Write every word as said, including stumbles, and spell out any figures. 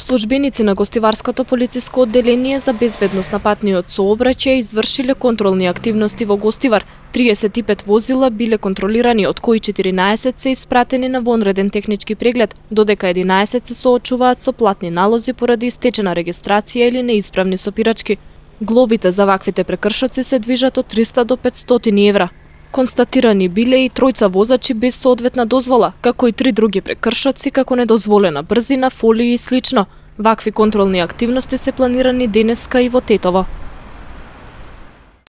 Службеници на Гостиварското полициско одделение за безбедност на патниот сообраќај извршиле контролни активности во Гостивар. триесет и пет возила биле контролирани, од кои четиринаесет се испратени на вонреден технички преглед, додека единаесет се соочуваат со платни налози поради истечена регистрација или неисправни сопирачки. Глобите за ваквите прекршоци се движат од триста до петстотини евра. Констатирани биле и тројца возачи без соодветна дозвола, како и три други прекршоци како недозволена брзина, фолии и слично. Вакви контролни активности се планирани денеска и во Тетово.